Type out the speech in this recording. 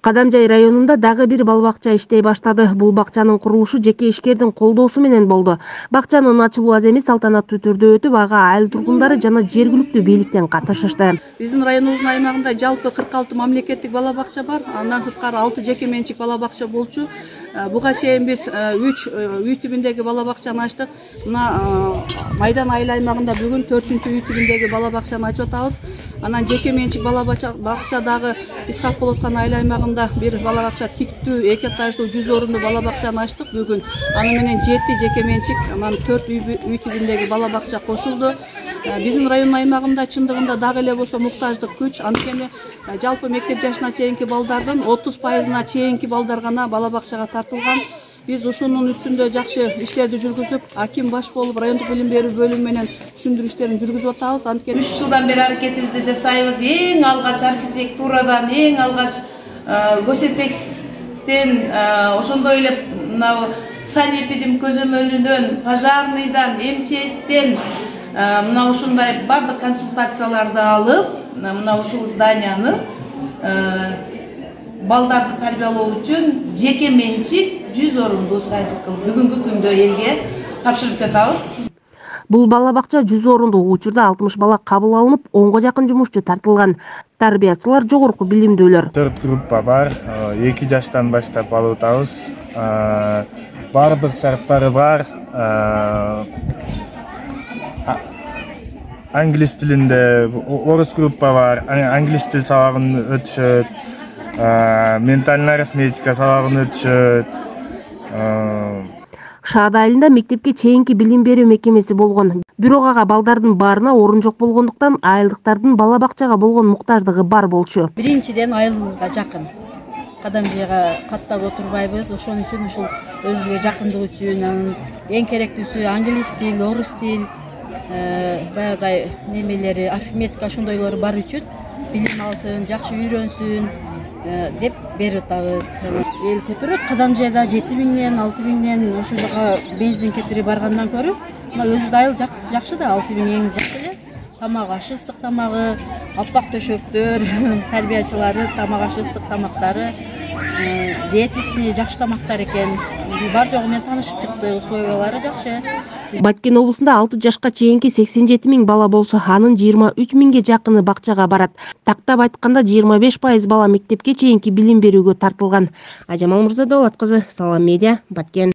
Кадамжай районунда дагы бир бала бакча иштей баштады. Бул бакчанын курулушу жеке ишкердин колдоосу менен болду. Бакчанын ачылуу аземи салтанаттуу түрдө өтүп, ага айыл тургундары жана жергиликтүү бийликтен катышышты. Биздин районубуздун аймагында жалпы 46 мамлекеттик бала бакча бар. Андан сырткары 6 жеке менчик бала бакча болчу. Буга чейин биз 3 үй тибиндеги бала бакчаны ачтык. Мына Майдан айыл аймагында бүгүн 4-үй тибиндеги бала бакчаны ачып атабыз. Анан жеке менчик бала бакча дагы Исхак Болоткан айыл аймагында бир бала бакча тиктүү 2 этаждуу 100 орунду бала бакчаны ачтык бүгүн. Аны менен 7 жеке менчик, анан 4 үй тибиндеги бала бакча кошулду. Биздин район аймагында чындыгында дагы эле болсо муктаждык күч. Анткени жалпы мектеп жашына чейинки балдардын 30%-на чейинки балдар гана бала бакчага тартылган. Биз ушунун үстүндө жакшы иштерди жүргүзүп, аким баш болуп, райондук билим берүү бөлүмү менен түшүндүрүү иштерин жүргүзүп атабыз. Анткени 3 жылдан бери аракетибизди жасайбыз. Эң алгач архитектурадан, эң алгач көсетектен, ошондой эле мына санэпидин көзөмөлүнөн, пожарныйдан, МЧСтен мына ушундай бардык консультацияларды алып, мына ушул зданияны балдарды тарбиялоо үчүн жеке менчик 100 орунду садик кылып бүгүнкү күндө элге тапшырып жатабыз. Бул бала бакча 100 орунду, учурда 60 бала кабыл алынып, 10го жакын жумушчу тартылган. Тарбиячылар жогорку билимдүүлөр. 4 группа бар, 2 жаштан баштап алып атабыз. Бардык шарттары бар. Англис тилинде орус группа бар, англис тил сабагын өтүшөт, ментальный арифметика сабагын өтүшөт. Шаад айылында мектепке чейинки билим берүү мекемеси болгон. Бирок ага балдардын баарына орун жок болгондуктан айылдыктардын бала бакчага болгон муктаждыгы бар болчу. Биринчиден айылыбызга жакын. Кадамжайга каттап отурбайбыз. Ошон үчүн ушул өзүбүзгө жакындык үчүн эң керектүүсү англис тил, орус тил, баягыдай немелери, арифметика ошондойлору бар үчүн билим алсын, жакшы үйрөнсүн деп берип атабыз. Эл көтөрөт. Кадамжайда 7000ден, 6000ден ошол жака бензин кетирип баргандан көрө, мына өзүбүздүн айыл жакшы да, 6000 эң жакшы эле. Тамак ашы, ыстык тамагы, аппак төшөктөр, тарбиячылары тамак ашы, ыстык тамактары, диетисти жакшы тамактар экен. Бар жогу менен таанышып чыкты, условиялары жакшы. Баткен облусунда 6 жашка чейинки 87 000 бала болсо, анын 23 000ге жакыны бакчага барат. Тактап айтканда 25% бала мектепке чейинки билим берүүгө тартылган. Ажамал Мурзадолат кызы, Салам Медиа, Баткен.